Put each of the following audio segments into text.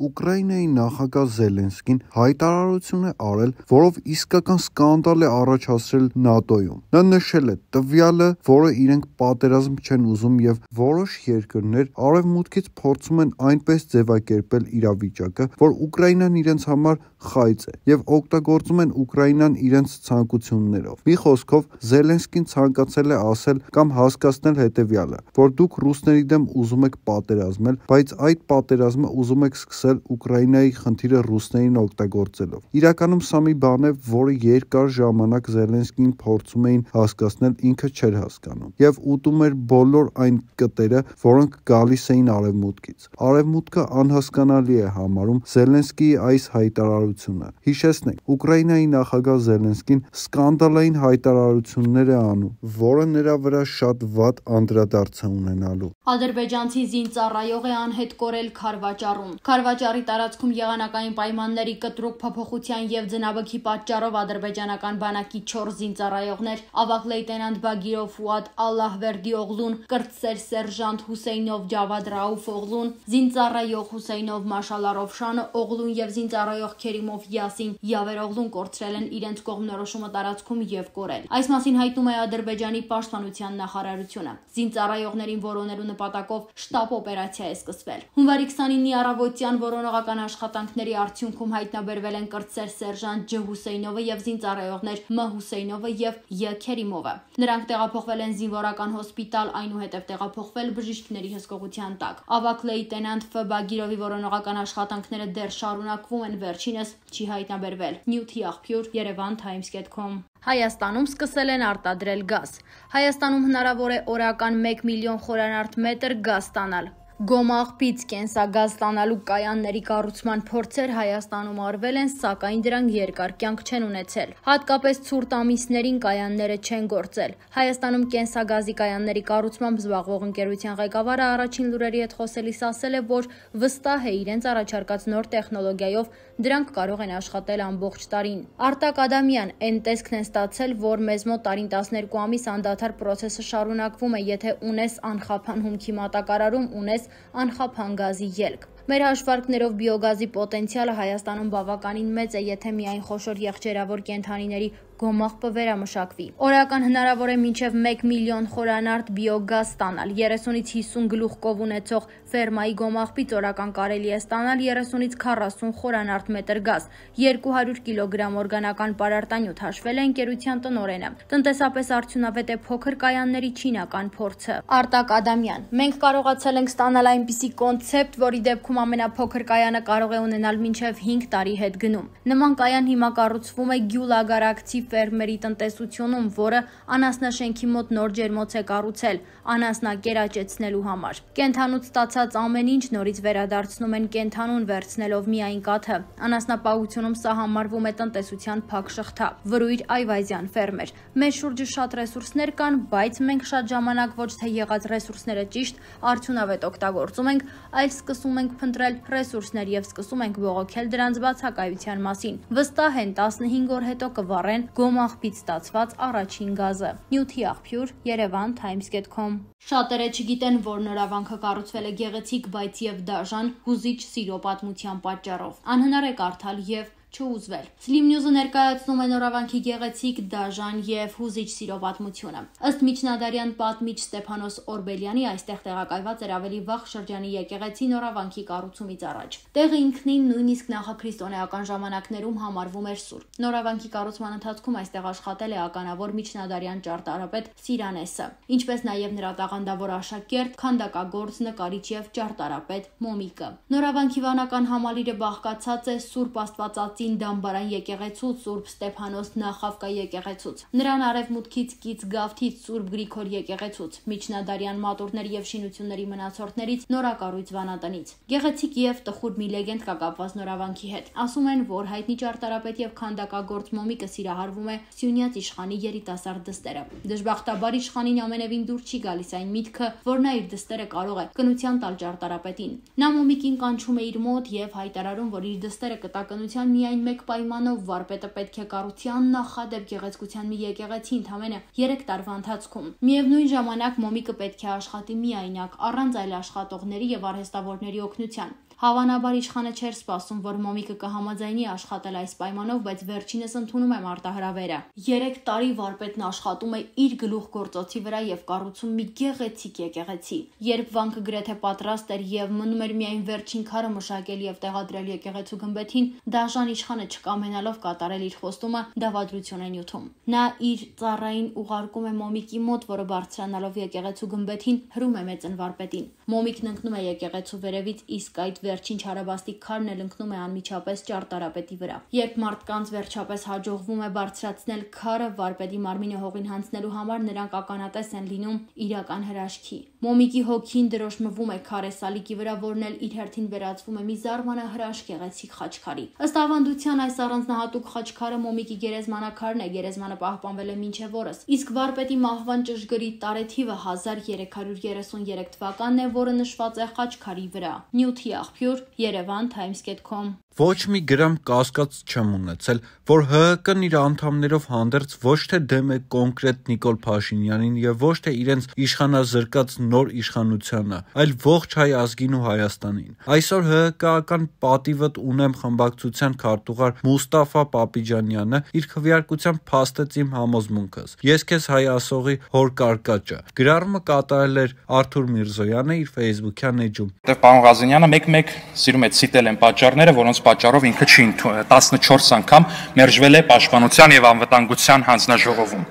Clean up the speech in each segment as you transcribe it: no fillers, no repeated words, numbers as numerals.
Ուկրաինայի նախագահ Զելենսկին հայտարարություն է արել, որով իսկական սկանդալ է առաջացրել ՆԱՏՕ-ում։ Նա նշել է տվյալը, որը իրենք պատերազմ չեն ուզում եւ որոշ երկրներ արևմուտքից փորձում են այնպես ձևակերպել իրավիճակը, որ Ուկրաինան իրենց համար խայծ է եւ օգտագործում են Ուկրաինան իրենց ցանկություններով։ Մի խոսքով Զելենսկին ցանկացել է ասել կամ հասկացնել հետեւյալը, որ դուք ռուսների դեմ ուզում եք պատերազմել, բայց այդ պատերազմը ուզում եք սկսել Ուկրաինայի խնդիրը ռուսներին օգտագործելով։ Իրականում սա մի բան է, որը երկար ժամանակ Զելենսկին փորձում էին հասկացնել, ինքը չէր հասկանում եւ ուտում էր բոլոր այն կտերը, որոնք գալիս էին արևմուտքից։ Արևմուտքը անհասկանալի է համարում Զելենսկիի այս հայտարարությունը։ Հիշեցնենք, Ուկրաինայի նախագահ Զելենսկին սկանդալային հայտարարություններ է անում, որը նրա վրա շատ վատ անդրադարձ է ունենալու։ Ադրբեջանցի զինծառայող է անհետ կորել Քարվաճառում։ Քարվաճառի տարածքում եղանակային պայմանների կտրուկ փոփոխության եւ ձնաբքի պատճառով ադրբեջանական բանակի 4 զինծառայողներ՝ ավագ լեյտենանտ Բագիրով Ֆուադ Ալլահվերդի օղլուն, կրտսեր սերժանտ Հուսեյնով Ջավադ Ռաուֆ օղլուն, զինծառայող Հուսեյնով Մաշալարով Շանը օղլուն եւ զինծառայող Քերիմով Յասին Յավեր օղլուն կորցրել են իրենց կողմնորոշումը տարածքում եւ կորել։ Այս մասին հայտնում է Ադրբեջանի պաշտպանության նախարարությունը։ Զինծառայողներին որոնելու նպատակով շտապ օպերացիա է սկսվել։ Հունվարի 29-ի առավոտյան որոնողական աշխատանքների արդյունքում հայտնաբերվել են կրտսեր սերժանտ Ջ Հուսեյնովը եւ զինծառայողներ Մ Հուսեյնովը եւ ය Քերիմովը։ Նրանք տեղափոխվել են զինվորական հոսպիտալ, այնուհետև տեղափոխվել բժիշկների հսկողության տակ։ Ավագ լեյտենանտ Ֆ Բագիրովի որոնողական աշխատանքները դեռ շարունակվում են, վերջինս չի հայտնաբերվել։ Նյութի աղբյուր Yerevan-Times.com Հայաստանում սկսել են արտադրել գազ։ Հայաստանում հնարավոր է օրական 1 միլիոն խորանարդ մետր գազ ստանալ։ Գոմաղբից կենսագազ ստանալու կայանների կառուցման փորձեր Հայաստանում արվել են, սակայն դրանք երկար կյանք չեն ունեցել։ Հատկապես ցուրտ ամիսներին կայանները չեն գործել։ Հայաստանում կենսագազի կայանների կառուցմամբ զբաղվող ընկերության ղեկավարը առաջին լուրերի հետ խոսելիս ասել է, որ վստահ է իրենց առաջարկած նոր տեխնոլոգիայով դրանք կարող են աշխատել ամբողջ տարին։ Արտակ Ադամյան այն տեսքն են ստացել, որ մեզ մոտ տարին 12 ամիս անդադար պրոցեսը շարունակվում է, եթե ունես անխափան հումքի մատակարարում, ունես անխափան գազի ելք։ Մեր հաշվարկներով բիոգազի պոտենցիալը Հայաստանում բավականին մեծ է, եթե միայն խոշոր եղջերավոր կենդանիների գոմաղբը վերամշակվի։ Օրական հնարավոր է մինչև 1 միլիոն խորանարդ բիոգազ ստանալ։ 30-ից 50 գլուխ կով ունեցող ֆերմայի գոմաղբից օրական կարելի է ստանալ 30-ից 40 խորանարդ մետր գազ, 200 կիլոգրամ օրգանական պարարտանյութ, հաշվել է ընկերության տնօրենը։ Տնտեսապես արդյունավետ է փոքր կայանների չինական փորձը։ Արտակ Ադամյան. Մենք կարողացել ենք ստանալ այնպիսի կոնցեպտ, որի դեպքում ամենափոքր կայանը կարող է ունենալ մինչև 5 տարի հետ գնում։ Նման կայան հիմա կառուցվում է Գյուլագարակցի ֆերմերի տնտեսությունում, որը անասնաշենքի մոտ նոր ջերմոց է կառուցել անասնակերաճեցնելու համար։ Կենդանուց ստացած ամեն ինչ նորից վերադարձնում են կենդանուն, վերցնելով միայն կաթը։ Անասնապահությունում սա համարվում է տնտեսության փակ շղթա։ Վրույր Այվազյան, ֆերմեր. Մեր շուրջը շատ ռեսուրսներ կան, բայց մենք շատ ժամանակ ոչ թե եղած ռեսուրսները ճիշտ արդյունավետ օգտագործում ենք, այլ սկսում ենք փնտրել ռեսուրսներ եւ սկսում ենք բողոքել դրանց բացակայության մասին։ Վստահ են 15 օր հետո կվառեն գոմաղբից ստացված առաջին գազը։ Նյութի աղբյուր Yerevan-Times.com Շատերը չգիտեն, որ նորավանքը կառուցվել է գեղեցիկ, բայց եւ դաժան, հուզիչ սիրո պատմության պատճառով։ Անհնար է կարդալ եւ չուզվել։ Slim News-ը ներկայացնում է նորավանքի գեղեցիկ, դաժան եւ հուզիչ սիրո պատմությունը։ Ըստ միջնադարյան պատմիչ Ստեփանոս Օրբելյանի, այստեղ տեղակայված էր ավելի վաղ շրջանի եկեղեցի նորավանքի կառուցումից առաջ։ Տեղը ինքնին նույնիսկ նախաքրիստոնեական ժամանակներում համարվում էր սուրբ։ Նորավանքի կառուցման ընթացքում այստեղ աշխատել է ականավոր միջնադարյան ճարտարապետ Սիրանեսը, ինչպես նաեւ նրա տաղանդավոր աշակերտ, քանդակագործ, նկարիչ եւ ճարտարապետ Մոմիկը։ Նորավանքի վանական համալիրը բաղկացած է Սուրբ Աստվածածին դամբարան եկեղեցուց, Սուրբ Ստեփանոս Նախավկա եկեղեցուց, նրան արևմուտքից կից Գավթից Սուրբ Գրիգոր եկեղեցուց, միջնադարյան մատուրների եւ շինությունների մնացորդներից նորակառույց վանատնից։ Գեղեցիկ եւ տխուր մի լեգենդ կա կապված նորավանքի հետ։ Ասում են, որ հայտնի ճարտարապետ եւ քանդակագործ Մոմիկը սիրահարվում է Սյունյաց իշխանի երիտասարդ դստերը։ Դժբախտաբար իշխանին ամենևին դուր չի գալիս այն միտքը, որ նա իր դստերը կարող է կնության տալ ճարտարապետին։ Նա Մոմիկին կանչում է իր մոտ եւ հայտարարում, որ իր դստերը կտա կնության միայն մեկ պայմանով, վարպետը պետք է կառուցի աննախադեպ գեղեցկության մի եկեղեցի ընդամենը 3 տարվա ընթացքում։ Միևնույն ժամանակ Մոմիկը պետք է աշխատի միայնակ, առանց այլ աշխատողների եւ արհեստավորների օգնության։ Հավանաբար իշխանը չէր սպասում, որ Մոմիկը կհամաձայնի աշխատել այս պայմանով, բայց վերջինս ընդունում է մարտահրավերը։ 3 տարի վարպետն աշխատում է իր գլուխգործոցի վրա եւ կառուցում մի գեղեցիկ եկեղեցի։ Երբ վանքը գրեթե պատրաստ էր եւ մնում էր միայն վերջին քարը մշակել եւ տեղադրել եկեղեցու գմբեթին, դաժան իշխանը չկամենալով կատարել իր խոստումը, դավադրություն է նյութում։ Նա իր ծառային ուղարկում է Մոմիկի մոտ, որը բարձրանալով եկեղեցու գմբեթին հրում է մեծն վարպետին։ Մոմիկն ընկնում է եկեղեցու վերևից, իսկ այդ վերջին չարաբաստիկ քարն էլ ընկնում է անմիջապես ճարտարապետի վրա։ Երբ մարդկանց վերջապես հաջողվում է բարձրացնել քարը, վարպետի մարմինը հողին հանձնելու համար նրանք ականատես են լինում իրական հրաշքի։ Մոմիկի հոգին դրոշմվում է քարեսալիկի վրա, որն էլ իր հերթին վերածվում է մի զարմանահրաշք գեղեցիկ խաչքարի։ Ըստ ավանդության այս առանձնահատուկ խաչքարը Մոմիկի գերեզմանակարն է, գերեզմանը պահպանվել է մինչև օրս, իսկ վարպետի մահվան ճշգրիտ տարեթիվը 1333 թվականն է, որը նշված է խաչքարի վրա։ Նյութի աղբյուր yerevan.times.com Ոչ մի գրամ կասկած չեմ ունեցել, որ ՀՀԿ-ն իր անդամներով հանդերձ ոչ թե դեմ է կոնկրետ Նիկոլ Փաշինյանին եւ ոչ թե իրենց իշխանազրկած նոր իշխանությանը, այլ ողջ հայ ազգին ու Հայաստանին։ Այսօր ՀՀԿ-ական պատիվդ ունեմ խմբակցության քարտուղար Մուստաֆա Պապիջանյանը իր քվեարկությամբ փաստեց իմ համոզմունքս։ Ես քեզ հայ ասողի հոր կարկաճը։ Գրառումը կատարել էր Արթուր Միրզոյանը իր Facebook-յան էջում։ Պարոն Ղազանյանը մեկ-մեկ սիրում է ցիտել են պատճառները, որոնց պատճառով ինքը չի 14 անգամ մերժվել է Պաշտպանության եւ Անվտանգության հանձնաժողովում։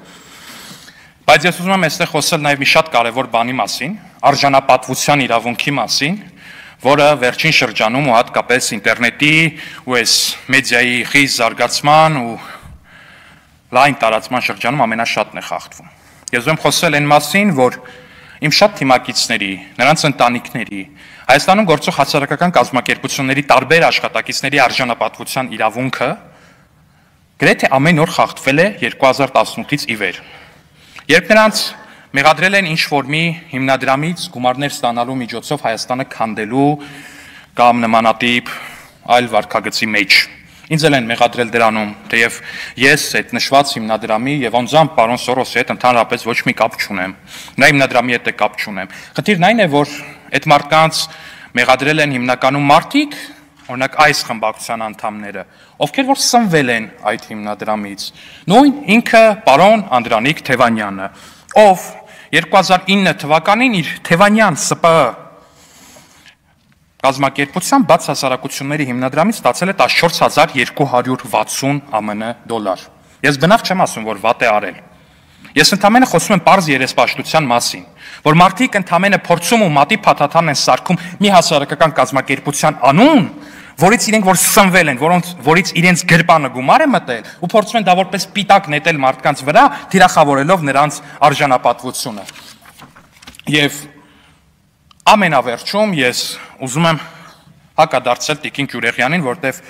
Բայց ես ուզում եմ այստեղ խոսել նաեւ մի շատ կարեւոր բանի մասին, արժանապատվության իրավունքի մասին, որը վերջին շրջանում ու հատկապես ինտերնետի ու այս մեդիայի խիստ զարգացման ու լայն տարածման շրջանում ամենաշատն է խախտվում։ Ես ուզում եմ խոսել այն մասին, որ իմ շատ թիմակիցների, նրանց ընտանիքների, Հայաստանում գործող հասարակական կազմակերպությունների տարբեր աշխատակիցների արժանապատվության իրավունքը գրեթե ամեն օր խախտվել է 2018-ից ի վեր։ Երբ նրանց մեղադրել են ինչ-որ մի հիմնադրամից գումարներ ստանալու միջոցով Հայաստանը քանդելու կամ նմանատիպ այլ վարքագծի մեջ, ինձ էլ են մեղադրել դրանում, թեև ես այդ նշված հիմնադրամի եւ անձամբ պարոն Սորոսի հետ ընդհանրապես ոչ մի կապ չունեմ։ Նա հիմնադրամի հետ է կապ չունեմ։ Խնդիրն այն է, որ այդ մարդկանց մեղադրել են հիմնականում մարդիկ, օրինակ այս խմբակցության անդամները, ովքեր որ սնվել են այդ հիմնադրամից։ Նույն ինքը պարոն Անդրանիկ Թևանյանը, ով 2009 թվականին իր Թևանյան ՍՊԸ կազմակերպության բաց հասարակությունների հիմնադրամից ստացել է 14260 ԱՄՆ դոլար։ Ես բնավ չեմ ասում, որ վատ է արել։ Ես ընդամենը խոսում եմ պարզ երեսպաշտության մասին, որ մարդիկ ընդամենը փորձում ու մատի փաթաթան են սարքում մի հասարակական կազմակերպության անուն, որից իրենք որ սնվել են, որից իրենց գրպանը գումար է մտել ու փորձում են դա որպես պիտակ նետել մարդկանց վրա, թիրախավորելով նրանց արժանապատվությունը։ Եվ ամենավերջում ես ուզում եմ հակադարձել Տիկին Գյուրեղյանին, որտեվ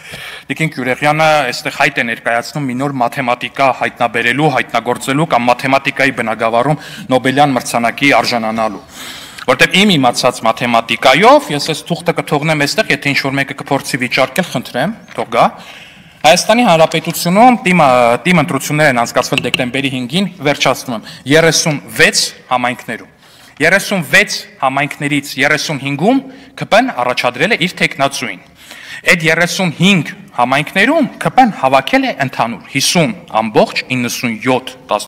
Տիկին Գյուրեղյանը այստեղ հայտ է ներկայացնում մի նոր մաթեմատիկա հայտնաբերելու, հայտնագործելու կամ մաթեմատիկայի բնագավառում Նոբելյան մրցանակի արժանանալու։ Որտեվ իմ իմացած մաթեմատիկայով ես այս թուղթը կթողնեմ այստեղ, եթե ինչ-որ մեկը կփորձի վիճարկել, խնդրեմ, թող գա։ Հայաստանի Հանրապետությունում թիմ ընտրություններ են անցկացվել դեկտեմբերի 5-ին, վերջացնում եմ, 36 համայնքներում։ 36 համայնքներից 35-ում ԿՊ-ն առաջադրել է իր տեխնացուին։ Այդ 35 համայնքներում ԿՊ-ն հավաքել է ընդհանուր 50.97